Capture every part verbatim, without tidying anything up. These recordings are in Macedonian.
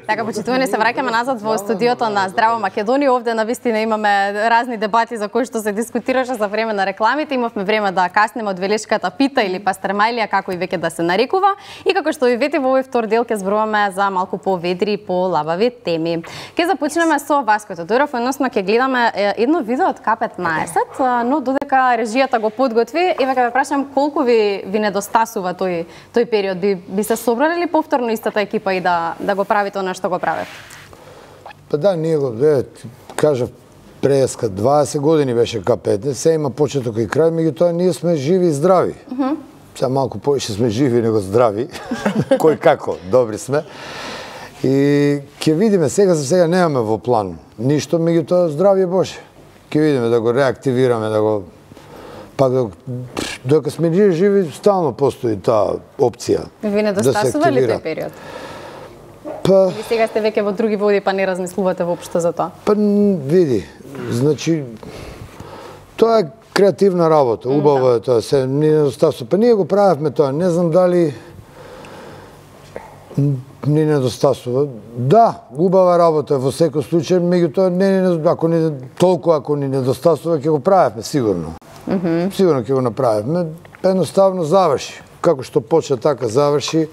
Така, почитувани, се враќаме назад во студиото на Здраво Македонија. Овде навистина имаме разни дебати за кои што се дискутираше за време на рекламите. Имавме време да каснеме од велешката пита или пастермајлија, како и веќе да се нарекува. И како што ви вети, во овој втор дел ќе зборуваме за малку поведри и полабави теми. Ќе започнеме со Васко Тодоров, односно ќе гледаме едно видео од К петнаесет, но додека режијата го подготви, еве ќе ве прашам колку ви ви недостасува тој тој период. Би би се собрали ли повторно истата екипа и да да го правите она што го правите? Па да, ние го, е, кажав, преска дваесет години беше К петнаесет, се има почеток и крај, меѓутоа ние сме живи и здрави. Uh -huh. Сега малку повеќе сме живи него здрави, кој како, добри сме. И ќе видиме, сега за сега немаме во план ништо, меѓутоа здравје Боже. Ќе видиме да го реактивираме, да го пак да докато сме живи, живи стално постои таа опција. Ви недостасува ли тој период? Па... Ви сега сте веќе во други води, па не размислувате воопшто за тоа? Па види, значи, тоа е креативна работа, убаво е тоа, се ни недостасува. Па ние го правевме тоа, не знам дали ни недостасува. Да, убава работа во секој случај, меѓутоа не ако ни толку ако ни недостасува ќе го правевме сигурно. Mm -hmm. Сигурно ќе го направиме, едноставно заврши. Како што почна така заврши,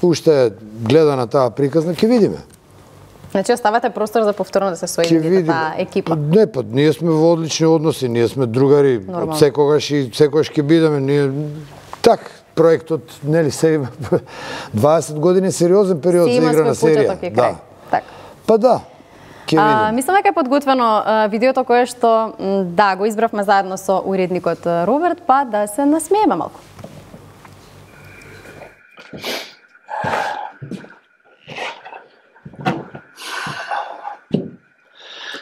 уште гледа на таа приказна, ќе видиме. Значи оставате простор за повторно да се соедините таа екипа? Не, па ние сме во одлични односи, ние сме другари, од секогаш и секогаш ќе бидеме. Ние так проектот, нели се дваесет години сериозен период за игра на серија. Да. Так. Па да. А, мислам дека е подготвено а, видеото кое што да го избравме заедно со уредникот Роберт, па да се насмееме малку.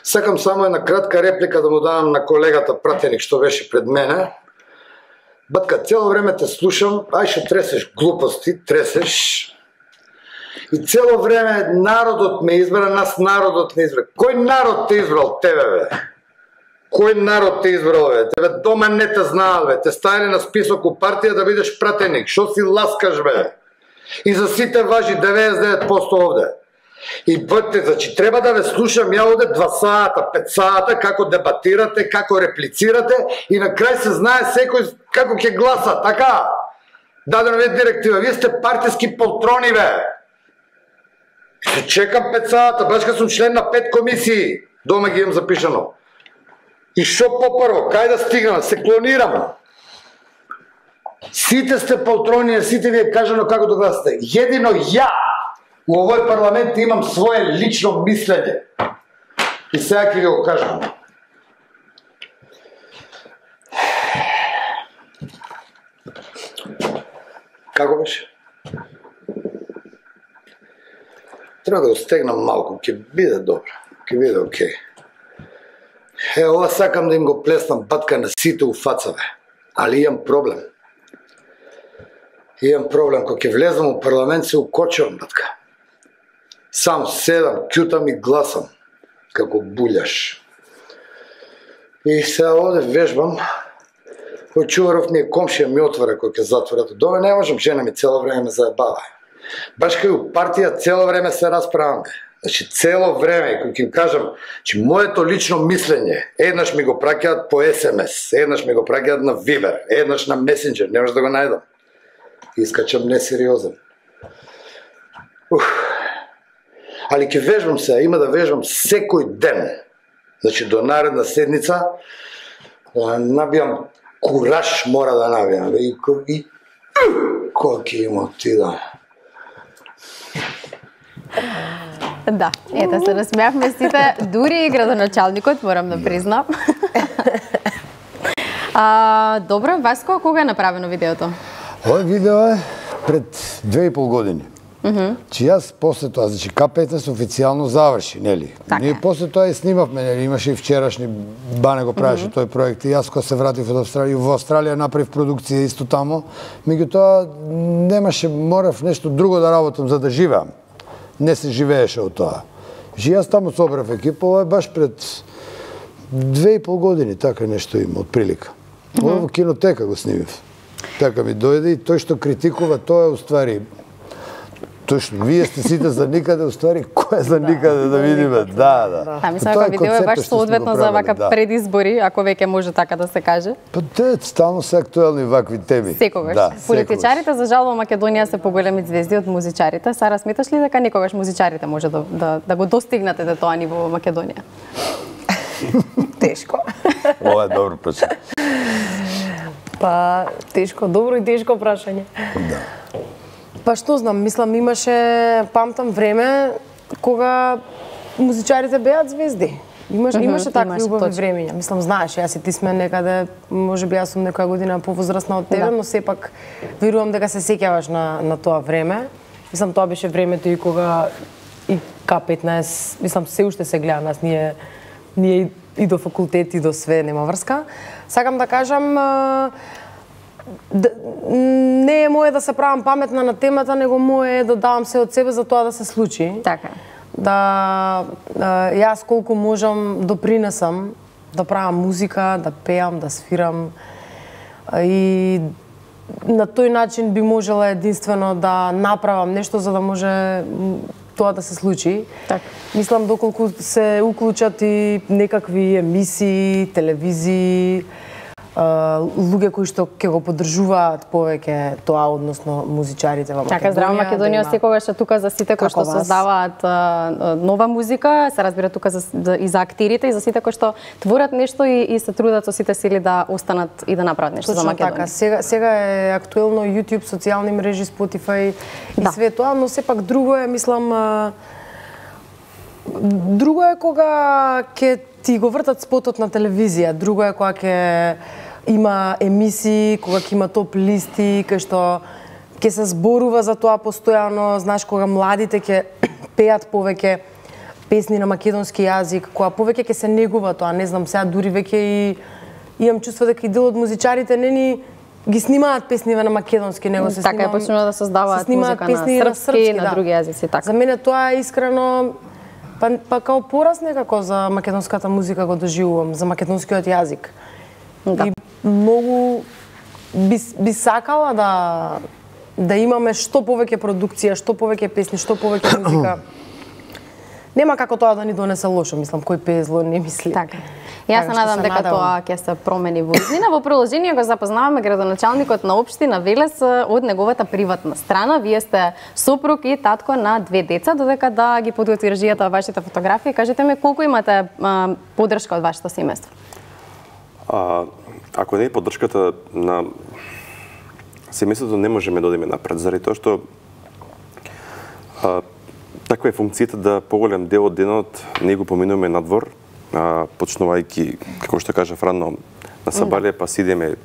Сакам само една кратка реплика да му дадам на колегата пратеник што беше пред мене. Батка, цело време те слушам, ај што тресеш глупости, тресеш. И цело време народот ме избра, нас народот не избра. Кој народ те избрал тебе, бе? Кој народ те избрал, бе? Тебе дома не те знаат, бе. Те ставили на список у партија да бидеш пратеник. Шо си ласкаш, бе? И за сите важи деветдесет и девет проценти овде. И бъдете, значи, треба да ве слушам ја овде два сата, пет сата, како дебатирате, како реплицирате и на крај се знае секој како ќе гласа, така? Дадено ви директива, вие сте партиски полтрони, бе. Се чекам пет сата, баш кога сум член на пет комисии, дома ги имам запишано. И шо попрво, кај да стигнам, се клонирам. Сите сте полтрони, сите ви е кажано како да гласате. Едино ја у овој парламент имам свое лично мислење. И сега ќе ви го кажам. Како беше? Треба да го стегнам малку, ќе биде добро, ќе биде окей. Е, ова сакам да им го плеснам батка на сите у фацаве, али имам проблем. Имам проблем, кога ќе влезам у парламент се укочувам, батка. Сам седам, кјутам и гласам, како буљаш. И сега овде вежбам, кој Чуваров ми е комшија ми отвора кој ќе затворат. Доме не можам, жена ми цело време ме заебава. Баш кај у партија цело време се расправаме. Значи цело време, кој ќе кажам, че моето лично мислење, еднаш ми го праќаат по ес ем ес, еднаш ми го праќаат на Viber, еднаш на Messenger, не може да го најдам. Искачам несериозен. Ух. Али ќе вежбам се, има да вежбам секој ден. Значи до наредна седница набијам кураж, мора да набијам. И, и кој ќе има отида. Да, ето се насмеавме сите, дури и градоначалникот, морам да признам. а, добро, Васко, кога е направено видеото? Ова видео е пред две и пол години. Mm -hmm. Че јас после тоа, значи К петнаесет официјално заврши, нели? Так Ние после тоа и снимавме, нели? Имаше и вчерашни, Бане го правеше mm -hmm. тој проект и јас кога се вратив од Австралија, во Австралија направив продукција исто тамо, меѓутоа немаше, морав нешто друго да работам за да живеам. Не се живееше од тоа. Жи јас таму собрав екипа, ова е баш пред две и пол години, така нешто има, од прилика. Mm -hmm. Ова во кинотека го снимив. Така ми дојде и тој што критикува, тоа е уствари Точно, вие сте сите за никаде, уствари, кој е за никаде да видиме, да, да. Да, мислам дека видео е баш соодветно за вака предизбори, ако веќе може така да се каже. Па те стално се актуелни вакви теми. Секогаш. Политичарите за жал во Македонија се поголеми звезди од музичарите. Сара, сметаш ли дека некогаш музичарите може да да, да го достигнете до тоа ниво во Македонија? Тешко. Ова е добро прашање. Па, тешко, добро и тешко прашање. Да. Па што знам, мислам имаше, памтам време кога музичарите беат звезди. Имаше, Mm-hmm, имаше такви имаше, убави точно. времења. Мислам, знаеш, јас и ти сме некаде, може би јас сум некоја година повозрасна од тебе, Да. но сепак верувам дека се сеќаваш на на тоа време. Мислам, тоа беше времето и кога и К петнаесет, мислам, се уште се гледа нас, ние ние и, и до факултет и до све нема врска. Сакам да кажам, а, да, не е мое да се правам паметна на темата, него мое е да давам се од себе за тоа да се случи. Така. Да, да јас колку можам допринесам да правам музика, да пеам, да свирам а, и на тој начин би можела единствено да направам нешто за да може м, тоа да се случи. Така. Мислам доколку се уклучат и некакви емисии, телевизии, а, луѓе кои што ќе го поддржуваат повеќе тоа, односно музичарите во Македонија. Така, Здрава Македонија да секогаш е тука за сите кои Како што вас. создаваат а, нова музика, се разбира тука за, за, и за актирите и за сите кои што творат нешто и, и се трудат со сите сили да останат и да направат нешто Точно за Македонија. така. Сега, сега е актуелно YouTube, социјални мрежи, Spotify и Да. све тоа, но сепак друго е, мислам, а, друго е кога ќе ти го вртат спотот на телевизија, друго е кога ќе има емисии, кога ќе има топ листи, кај што ќе се зборува за тоа постојано, знаеш, кога младите ќе пеат повеќе песни на македонски јазик, кога повеќе ќе се негува тоа, не знам, сега дури веќе и имам чувство дека и дел од музичарите не ни ги снимаат песниве на македонски, него се Така е, снимам, почнува да создаваат се снимаат музика на песни српски, на да. други јазици, така. За мене тоа е искрено па, па као пораз некако за македонската музика го доживувам, за македонскиот јазик. Да. И многу би, би сакала да да имаме што повеќе продукција, што повеќе песни, што повеќе музика. Нема како тоа да ни донесе лошо, мислам, кој пее зло не мисли. Така. Јас се Така што надам се дека надевам. тоа ќе се промени во иднина. Во продолжение го запознаваме градоначалникот на општина Велес од неговата приватна страна. Вие сте сопруг и татко на две деца, додека да ги подготви режијата вашите фотографии. Кажете ми колку имате а, поддршка од вашето семејство? А, ако не е поддршката на семејството, не можеме да одиме напред, заради тоа што а, таква е функцијата да поголем дел од денот не го поминуваме надвор, а, почнувајќи, како што кажа рано на сабале, па сидеме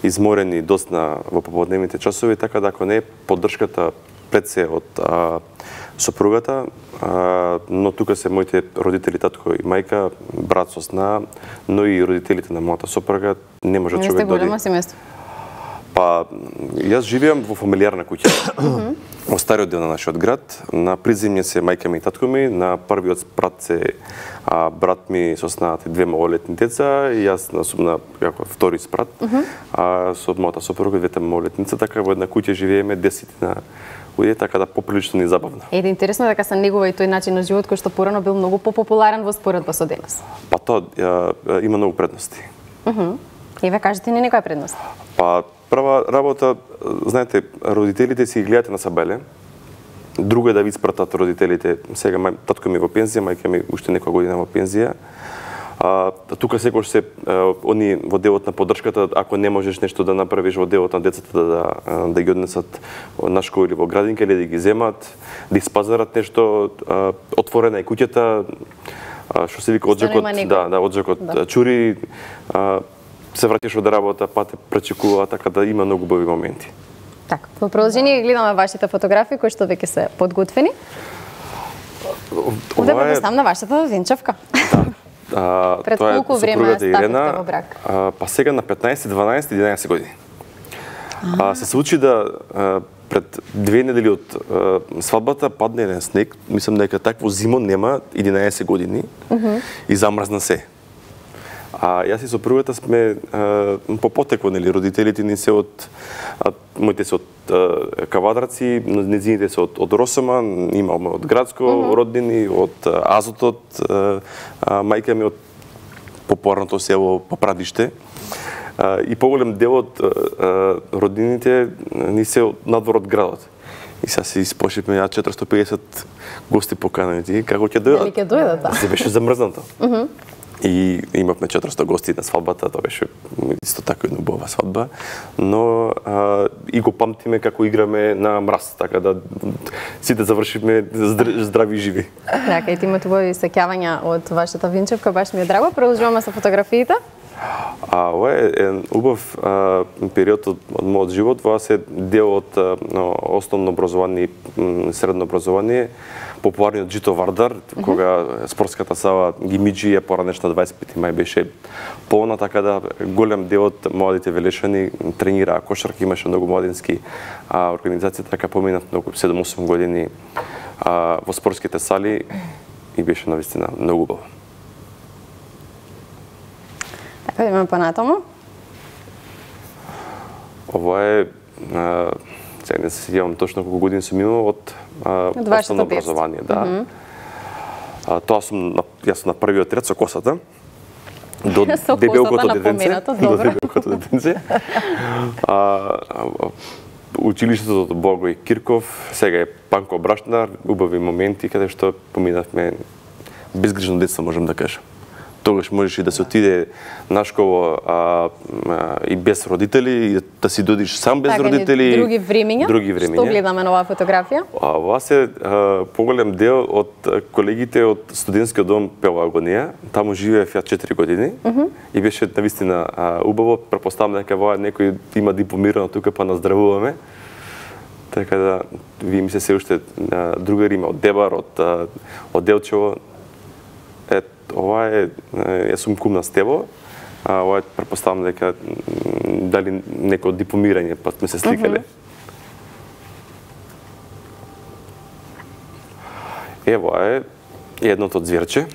изморени доцна во поподневните часови, така да ако не е поддршката пред се од а, сопругата, а, но тука се моите родители, татко и мајка, брат со сна, но и родителите на мојата сопруга, не може Не сте човек да оди. големо семејство. Па, јас живеам во фамилиарна куќа. Во стариот дел на нашиот град, на приземје се мајка ми и татко ми, на првиот спрат се а, брат ми со снаат и две малолетни деца, и јас на, на како втори спрат, а, со мојата сопруга и двете малолетница, така во една куќа живееме десетина луѓе, така да поприлично ни забавно. Еде интересно дека се негува и тој начин на живот кој што порано бил многу попопуларен во споредба со денес. Па тоа ја, ја, има многу предности. Мгм. Еве кажете ни некоја предност. Па прва работа, знаете, родителите си ги гледате на сабеле. Друго е да ви испратат родителите. Сега мај, татко ми во пензија, мајка ми уште некоја година во пензија. А, тука секогаш се а, они во делот на поддршката, ако не можеш нешто да направиш во делот на децата да да, да ги однесат на школа или во градинка или да ги земат, да испазарат нешто, а, отворена е куќата, а, што се вика оджакот, да, да, оджакот Да. чури, а, се враќаш од работа, па те пречекува, така да има многу убави моменти. Така, во продолжение гледаме вашите фотографии кои што веќе се подготвени. Овде Ова е- предоставам на вашата венчавка. А, Пред тоа е колку време сопругата стапивте Ирена, во брак? А, па сега на петнаесет, дванаесет, единаесет години. А, се случи да а, пред две недели од а, свадбата падне еден снег, мислам дека такво зимо нема единаесет години, и замрзна се. А јас и сопругата сме а, по потекло, нели, родителите ни се од а, моите се од а, Кавадраци, незините се од, од Росоман, имаме од Градско, mm -hmm. роднини, од а, Азотот, а, а, мајка ми од попорното село Попрадиште. А, и поголем дел од а, роднините ни се од надвор од градот. И сега си испошивме ја четиристотини и педесет гости поканати, како ќе дојдат. Дали ќе дојдат, да. Се беше замрзнато. Mm -hmm. И имавме четиристотини гости на свадбата, тоа беше исто така една убава свадба, но а, и го памтиме како играме на мраз, така да сите завршивме здрави и живи. Така, и ти имате убави сеќавања од вашата винчевка, баш ми е драго. Продолжуваме со фотографиите. А ова е еден убав а, период од, од мојот живот, ова се дел од а, основно образование и средно образование, популарниот Джито Вардар, mm -hmm. кога спортската сала Гимиджи, поранешна дваесет пети мај беше полна, така да голем дел од младите велешани тренираа кошарка, имаше многу младински а, организации, така поминав многу седум-осум години а, во спортските сали и беше навистина многу убаво. Така, имаме понатаму. Ова е, а, сега не се сеќавам точно колку години сум имал од основно образование, да. Mm -hmm. а, тоа сум, јас сум на првиот ред со косата, до дебелкото детенце. До дебелкото детенце. А, а, училиштето од Благој Кирков, сега е Панко Брашнар, убави моменти каде што поминавме безгрижно детство, можам да кажам. Тогаш можеше да се отиде на школа а, а, и без родители, и да си додиш сам без така, родители. Други времења. Други времења. Што гледаме на оваа фотографија? А, ова се а, поголем дел од колегите од студентскиот дом Пелагонија. Таму живеев ја четири години mm -hmm. и беше навистина а, убаво. Претпоставам дека ова некој има дипломирано тука, па наздравуваме. Така да, вие ми се се уште а, другари има од Дебар, од, а, од Делчево. Е, ова е, јас сум кум на Стево, а ова е, претпоставам дека дали некој дипломирање, па сме се сликале. Mm -hmm. Ево е едното од зверче,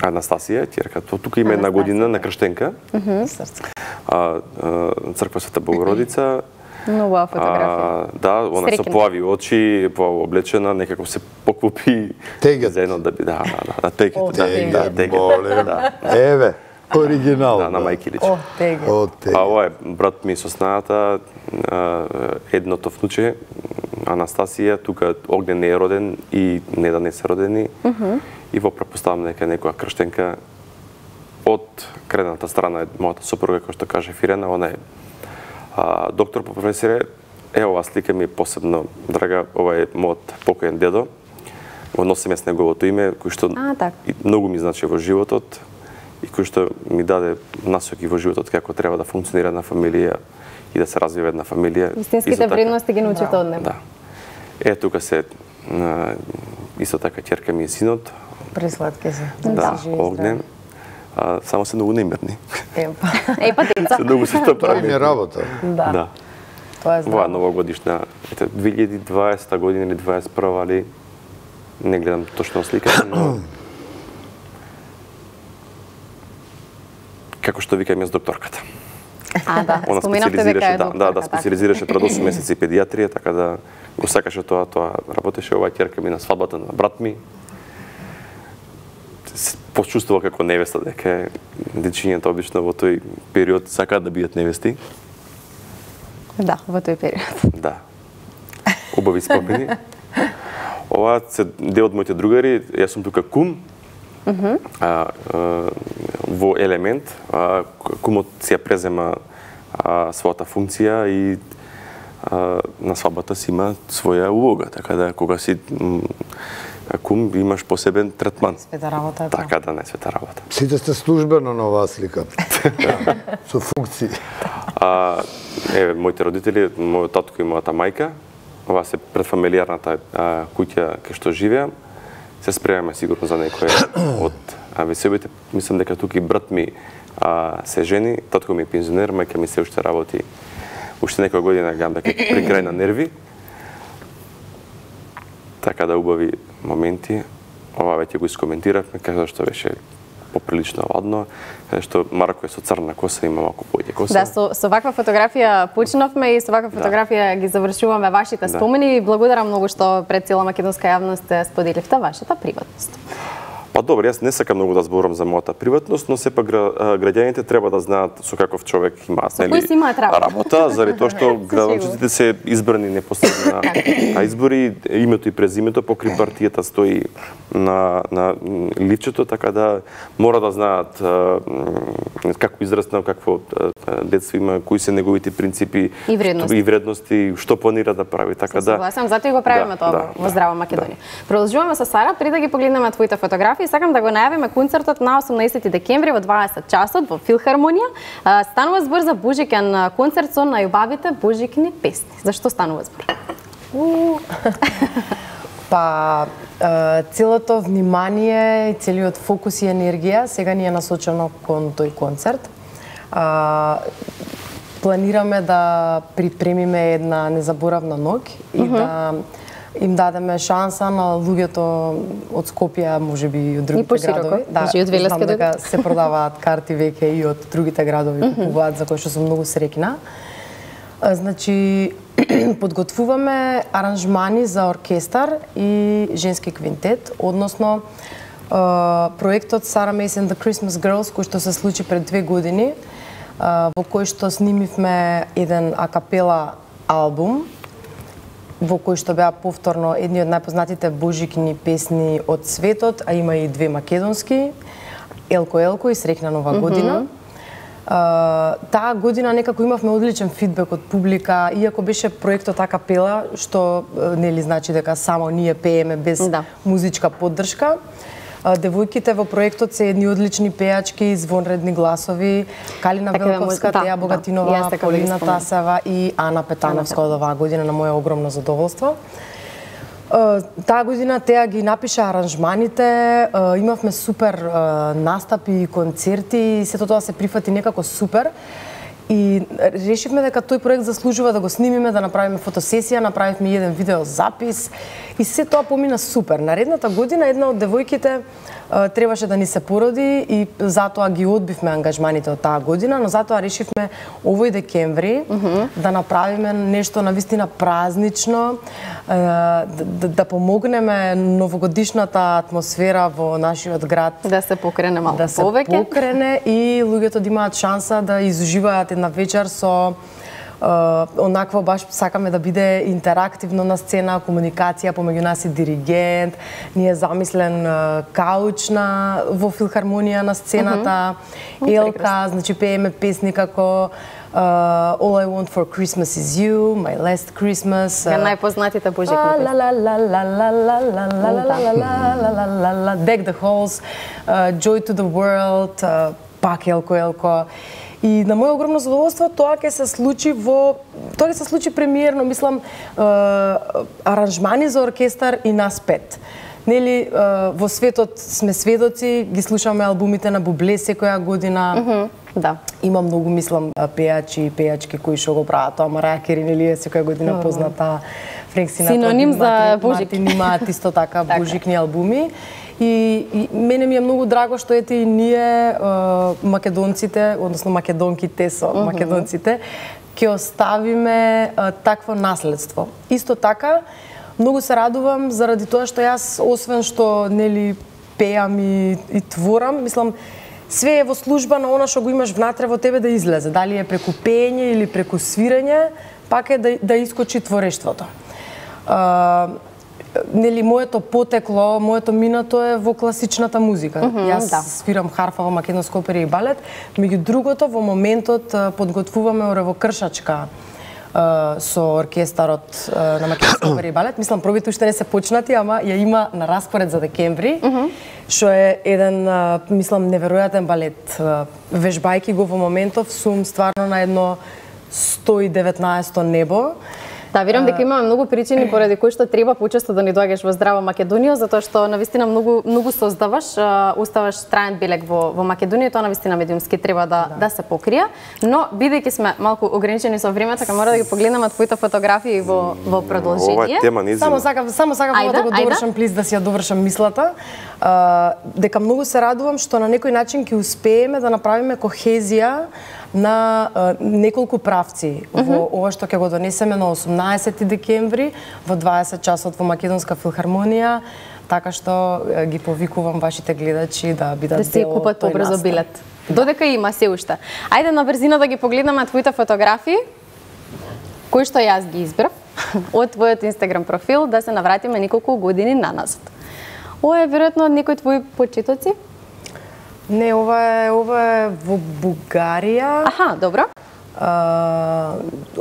Анастасија, ќерка. Тука има една година на крштенка. Mm -hmm. а, а, црква Света Богородица. Многу фотографија. Да, она со плави очи, облечена, некако се покупи заедно да би, да, да, да, тегет, да, да, тегет, да. Еве, оригинал. Да, на мајки личи. О, тегет. О, тегет. А ова е брат ми со снајата, едното внуче, Анастасија, тука Огнен не е роден и Неда не се родени. Mm -hmm. И во претпоставам дека некоја крштенка од кредната страна е мојата сопруга, кој што каже Фирена, она е А, доктор по професија, е ова слика ми е посебно драга, ова е мојот покоен дедо. Го носим јас неговото име, кој што а, так. многу ми значи во животот и кој што ми даде насоки во животот како треба да функционира една фамилија и да се развива една фамилија. Вистинските вредности ги научите од него. Да. Е, тука се а, исто така ќерка ми е синот. Пресладки се. Да, Огнен. А, само се многу немирни. Епа. Епа деца. Се многу се Тоа ми е работа. Да. Да. Тоа е здраво. Ова новогодишна, ете, две илјади и дваесета година или дваесет и прва, али не гледам точно слика, но како што викам јас докторката. А, да, Она споменавте дека е да, докторка. да, да, специализираше пред осум месеци педиатрија, така да го сакаше тоа, тоа работеше. Ова ќерка ми на свадбата на брат ми. Почувствува како невеста, дека дечињата обично во тој период сакаат да бидат невести. Да, во тој период. Да. Убави спомени. Ова се дел од моите другари, јас сум тука кум. Mm -hmm. а, а, во елемент, а, кумот си ја презема а, својата функција и а, на свадбата си има своја улога, така да кога си кум имаш посебен третман. Света работа е тоа. Така да, не света работа. Сите сте службено на оваа слика. Да, со функции. А, еве, моите родители, мојот татко и мојата мајка, ова се предфамилијарната а, куќа кај што живеам. Се спремаме сигурно за некој од веселбите. Мислам дека тука и брат ми а, се жени, татко ми е пензионер, мајка ми се уште работи уште некоја година, гам дека при крај на нерви. Така да убави моменти. Ова веќе го искоментиравме, како што беше поприлично ладно, каде што Марко е со црна коса, има малку поќе коса. Да, со, со ваква фотографија почнавме и со ваква фотографија да. ги завршуваме вашите да. спомени. Благодарам многу што пред цела македонска јавност споделивте вашата приватност. Па добро, јас не сакам многу да зборам за мојата приватност, но сепак граѓаните треба да знаат со каков човек има, со кој си имаат работа. работа, заради тоа што градончиците се избрани непосредно на избори, името и презимето покри партијата стои на на ливчето, така да мора да знаат како израснал, какво детство има, кои се неговите принципи и вредности, и вредности, што планира да прави, така да. Согласам, затоа и го правиме да, тоа да, во Здрава Македонија. Да. Продолжуваме со Сара, пред да ги погледнеме твоите фотографии. Сакам да го најавиме концертот на осумнаесети декември во дваесет часот во Филхармонија. Станува збор за божиќен концерт со најубавите божикни песни. Зашто станува збор? Па целото внимание и целиот фокус и енергија сега ни е насочено кон тој концерт. Планираме да припремиме една незаборавна ноќ и mm-hmm. да им дадеме шанса на луѓето од Скопје, можеби и од другите градови. Да, и од Велеска дека се продаваат карти веќе и од другите градови mm-hmm. купуваат, за кои што сум многу среќна. Значи, подготвуваме аранжмани за оркестар и женски квинтет, односно проектот Sarah Mace and the Christmas Girls, кој што се случи пред две години, во кој што снимивме еден акапела албум, во кој што беа повторно едни од најпознатите божикни песни од светот, а има и две македонски, Елко Елко и Среќна нова година. Mm-hmm. Uh, таа година некако имавме одличен фидбек од публика, иако беше проектот акапела, што нели значи дека само ние пееме без да. музичка поддршка. Девојките во проектот се едни одлични пеачки, звонредни гласови, Калина така, Велковска, да, Теја Богатинова, да, Полина Тасева и Ана Петановска од оваа година, на моје огромно задоволство. Таа година Теја ги напиша аранжманите, имавме супер настапи и концерти, и сето тоа се прифати некако супер. И решивме дека тој проект заслужува да го снимиме, да направиме фотосесија, направивме еден видеозапис и се тоа помина супер. Наредната година една од девојките требаше да ни се породи и затоа ги одбивме ангажманите од таа година, но затоа решивме овој декември mm-hmm. да направиме нешто навистина празнично, да, да, да помогнеме новогодишната атмосфера во нашиот град да се покрене малку да се повеќе, покрене и луѓето да имаат шанса да изуживаат една вечер со Uh, онакво баш сакаме да биде интерактивно на сцена, комуникација помеѓу нас и диригент, ни е замислен uh, кауч на во Филхармонија на сцената, mm-hmm. Елка, значи пееме песни како uh, All I Want for Christmas is You, My Last Christmas. Ја најпознатите божикни песни. La la la la la la la la la la la la la Deck the Halls, Joy to the World, пак Елко Елко. И на моје огромно задоволство тоа ќе се случи во тоа ќе се случи премиерно, мислам, е, аранжмани за оркестар и нас пет. Нели е, во светот сме сведоци, ги слушаме албумите на Бубле секоја година. Mm-hmm. Да. Има многу, мислам, пеачи и пеачки кои што го прават тоа. Марија Кери, нели е секоја година позната. Френк Синатра, синоним за божик. Мартин имаат исто така божикни албуми. И, и мене ми е многу драго што ете и ние е, македонците, односно македонките со mm-hmm. македонците, ќе оставиме е, такво наследство. Исто така, многу се радувам заради тоа што јас, освен што нели пеам и, и творам, мислам, све е во служба на она што го имаш внатре во тебе да излезе. Дали е преку пеење или преку свирење, пак е да, да искочи творештвото. Uh, нели моето потекло, моето минато е во класичната музика. Mm-hmm, Јас да. свирам харфа во македонска опера и балет, меѓу другото во моментот подготвуваме оревокршачка со оркестарот на македонска опера и балет. Мислам пробите уште не се почнати, ама ја има на распоред за декември, што mm-hmm. е еден мислам неверојатен балет. Вежбајки го во моментов сум стварно на едно сто и деветнаесто небо. Да, верувам дека имаме многу причини поради кои што треба почесто да ни доаѓаш во Здрава Македонија, затоа што навистина многу многу создаваш, оставаш траен белег во во Македонија, тоа навистина медиумски треба да да, да се покрие, но бидејќи сме малку ограничени со времето, така мора да ги погледнеме твоите фотографии во во продолжение. Ова тема не Само сакам само сакам да го довршам, плиз да си ја довршам мислата. А, дека многу се радувам што на некој начин ќе успееме да направиме кохезија на а, неколку правци во mm -hmm. ова што ќе го донесеме на осумнаесети декември во дваесет часот во Македонска филхармонија, така што а, ги повикувам вашите гледачи да бидат да си купат побрзо билет. Додека има се уште. Ајде на брзина да ги погледнеме твоите фотографии, кои што јас ги избрав од твојот Инстаграм профил, да се навратиме неколку години наназад. Ова е веројатно од некои твои почетоци? Не, ова е ова е во Бугарија. Аха, добро. А,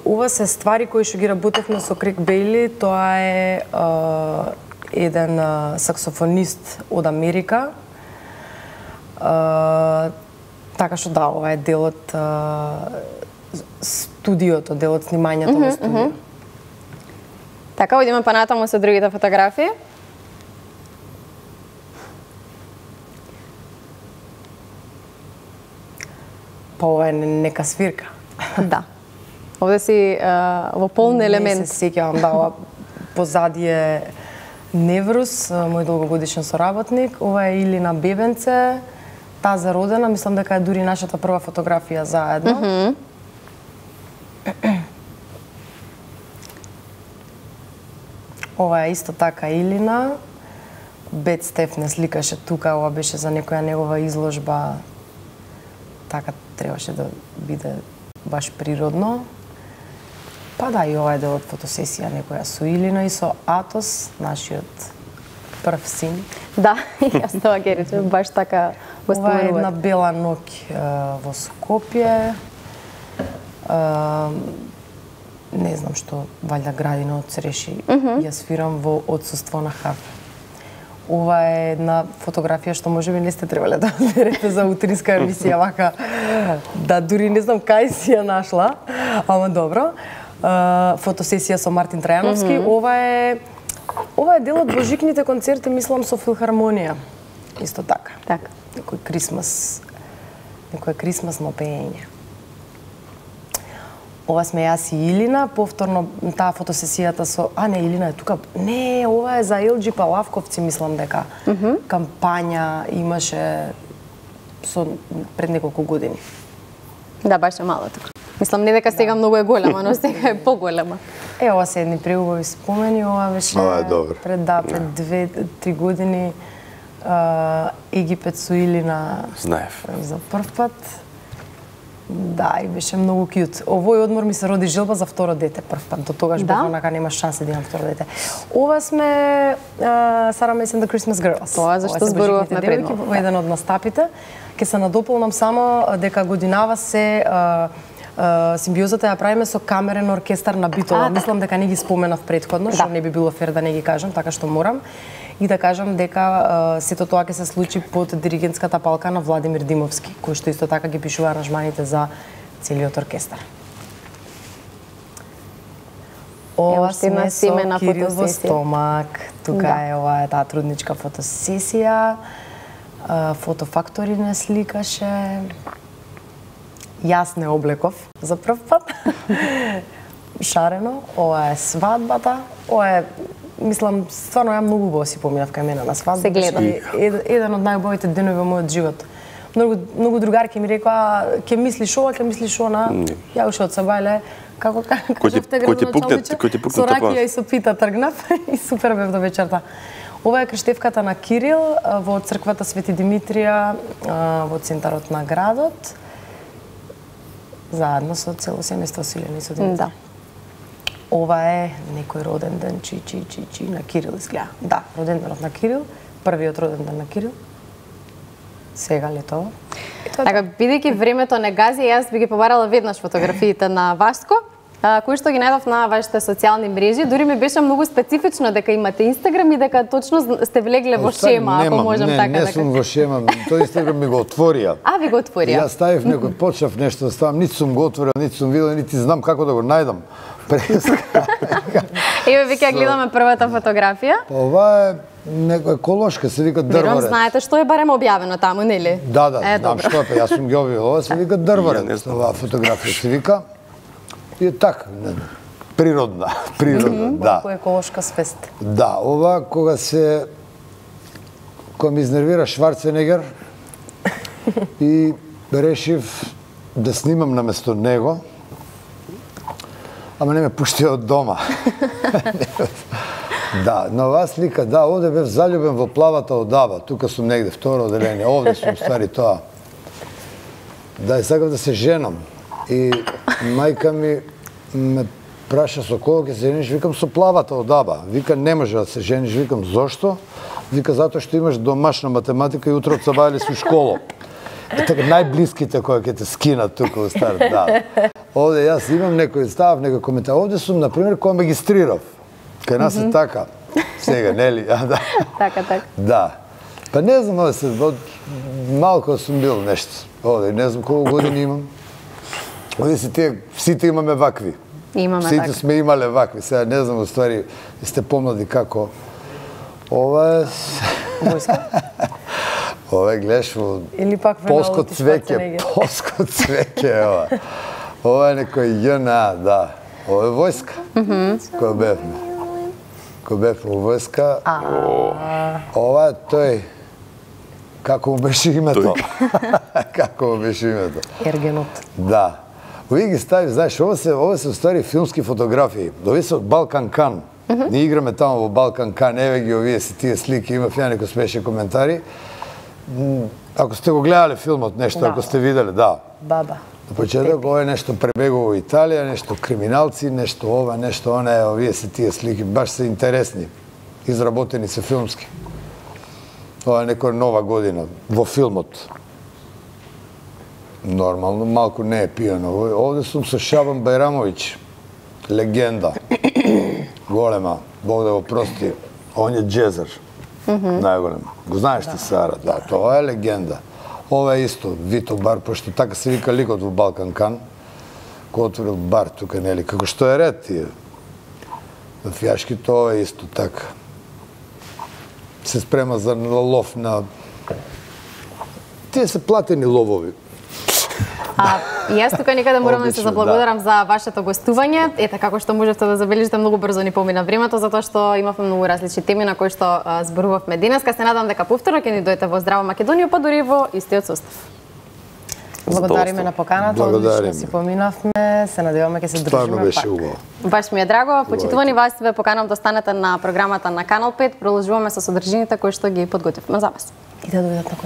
ова се ствари кои што ги работевме со Крик Бейли, тоа е а, еден а, саксофонист од Америка. А, така што да, ова е дел од а, студиото, дел од снимањето mm -hmm, во студио. Mm -hmm. Така, одиме па натаму со другите фотографии. Па ова е нека свирка. Да. Овде си а, во полн елемент. Не се сеќавам, да, ова позади е Неврус, мој долгогодишен соработник. Ова е Илина бебенце, таа за родена, мислам дека е дури нашата прва фотографија заедно. Mm -hmm. Ова е исто така Илина. Бет Стеф не сликаше тука, ова беше за некоја негова изложба. Така требаше да биде баш природно. Па да, и ова е дел од фотосесија некоја со Илина и со Атос, нашиот прв син. Да, јас тоа ќе речем, баш така го споменувате. Ова е една бела ноќ во Скопје. А, не знам што, валјда градина од цреши. Mm -hmm. Ја свирам во отсуство на Хав. Ова е една фотографија што можеби не сте требале да берете за утринска емисија, вака да дури не знам кај си ја нашла, ама добро. Uh, фотосесија со Мартин Трајановски. Mm -hmm. Ова е ова е дел од божикните концерти, мислам, со филхармонија. Исто така. Така. Некој крисмас, некој крисмасно пеење. Ова сме јас и Илина, повторно таа фотосесијата со... А, не, Илина е тука. Не, ова е за Ел Џи Палавковци, мислам дека. Mm -hmm. Кампања имаше со пред неколку години. Да, баш е мало тука. Мислам, не дека сега многу е голема, но сега е поголема. Е, ова се едни преубави спомени, ова беше ова е добро. Пред да, пред две три години а, Египет со Илина. Знаев. За прв пат. Да, и беше многу кјут. Овој одмор ми се роди желба за второ дете прв пат. До тогаш да? бев онака нема шанси да имам второ дете. Ова сме Сара Мейс and the Christmas Girls. Тоа зашто зборувавме предно. Во еден од настапите. Ке се надополнам само дека годинава се а, Uh, симбиозата ја правиме со камерен оркестар на битова. А, мислам дека не ги споменав претходно, што да. Не би било фер да не ги кажам, така што морам. И да кажам дека uh, сето тоа ќе се случи под диригентската палка на Владимир Димовски, кој што исто така ги пишува аранжманите за целиот оркестар. Ова сме со Кирил во стомак. Тука да. Е ова е таа трудничка фотосесија. Uh, Фотофактори не сликаше. Јас не облеков за прв пат. Шарено, ова е свадбата. Ова е, мислам, стварно ја многу убаво си поминав кај мене на свадба. Се гледа. Ед, еден од најубавите денови во мојот живот. Многу многу другарки ми рекоа, ќе мислиш ова, ќе мислиш она. Mm. Ја уште од Сабајле, како кажавте градоначалниче, со ракија и со пита тргнав и супер бев до вечерта. Ова е крштевката на Кирил во црквата Свети Димитрија во центарот на градот. Заедно со цело семејство со Илина и со Димитар. Да. Ова е некој роден ден, чи, чи, чи, чи, на Кирил изгледа. Да, роден денот на Кирил, првиот роден ден на Кирил. Сега летово. Така, бидејќи времето не гази, јас би ги побарала веднаш фотографиите на Васко, кои што ги најдов на вашите социјални мрежи. Дури ми беше многу специфично дека имате Инстаграм и дека точно сте влегле во шема, ако можам не, така не, да не сум во шема, тој Инстаграм ми го отворија. А, ви го отворија? Јас ставив некој, почнав нешто да ставам, ниту сум го отворил, ниту сум видел, нити знам како да го најдам. Преска. Еве веќе гледаме првата фотографија. Ова е некоја еколошка, се вика Верувам, дрварец. знаете што е барем објавено таму, нели? Да, да, Е, знам добро. што е, па јас сум ги објавил. Ова се вика Ја не дрварец, знам. оваа фотографија се вика. И е така, не, природна, природна, да. Малку еколошка свест. Да, ова кога се кога ми изнервира Шварценегер и решив да снимам наместо него, ама не ме пуштија од дома. Да, на оваа слика, да, овде бев заљубен во плавата одаба. Тука сум негде, второ оделение. Овде сум, ствари, тоа. Да, и сакав да се женам. И мајка ми ме праша со кого ќе се жениш, викам со плавата одаба. Вика, не може да се жениш, викам, зошто? Вика, затоа што имаш домашна математика и утре од сабајле си у школо. Е така, најблиските кои ќе те скинат тука во старт, да. Овде јас имам некој став, некој коментар. Овде сум, например, кога магистрирав. Кај нас е така. Сега, нели? А, да. Така, така. Да. Па не знам, овде се, од малко сум бил нешто. Овде, не знам колку години имам. Овде си тие, сите имаме вакви. Имаме Сите така. сме имале вакви. Сега не знам, уствари, сте помлади како. Ова е... Војска? Ова е, гледаш, во Или пак полско Фенелопи цвеќе, Шварценегер? полско цвеќе е ова. Ова е некој ЈНА, да. Ова е војска. Кој бевме. Кој бевме во војска. Ова е тој. Како му беше името? Како му беше името? Ергенот. Да. Овие ги стави, знаеш, ова се, ова се уствари филмски фотографии. Овие се од Балкан Кан. Ние играме таму во Балкан Кан, еве ги овие се тие слики, имав ја некои смешни коментари. М, Ако сте го гледале филмот, нешто, Да. ако сте виделе, да. Баба. На почеток ова е нешто пребегува во Италија, нешто криминалци, нешто ова, нешто она, е, овие се тие слики, баш се интересни. Изработени се филмски. Ова е некоја нова година во филмот. Нормално, малку не е пијано. Овде сум со Шабан Бајрамовиќ, легенда. Голема, Бог да го прости. Он е джезер. Најголем. Го знаеш ти, Сара? Да, тоа е легенда. Ова е исто, Вито бар, пошто така се вика ликот во Балкан Кан, кој отворил бар тука, нели, како што е ред тие. На фијашки тоа е исто така. Се спрема за лов на... Тие се платени ловови. А, и јас тука некаде морам да се Одлично, заблагодарам за вашето гостување. Ете, како што можевте да забележите, многу брзо ни помина времето, затоа што имавме многу различни теми на кои што а, зборувавме денеска. Се надам дека повторно ќе ни дојдете во Здраво Македонија, па дури во истиот состав. Благодариме на поканата, Благодариме. одлично си поминавме, се надеваме ќе се Стварно држиме беше пак. убаво. Баш ми е драго. Почитувани вас, ве поканам да останете на програмата на Канал пет. Продолжуваме со содржините кои што ги подготвивме за вас. И да дојдат на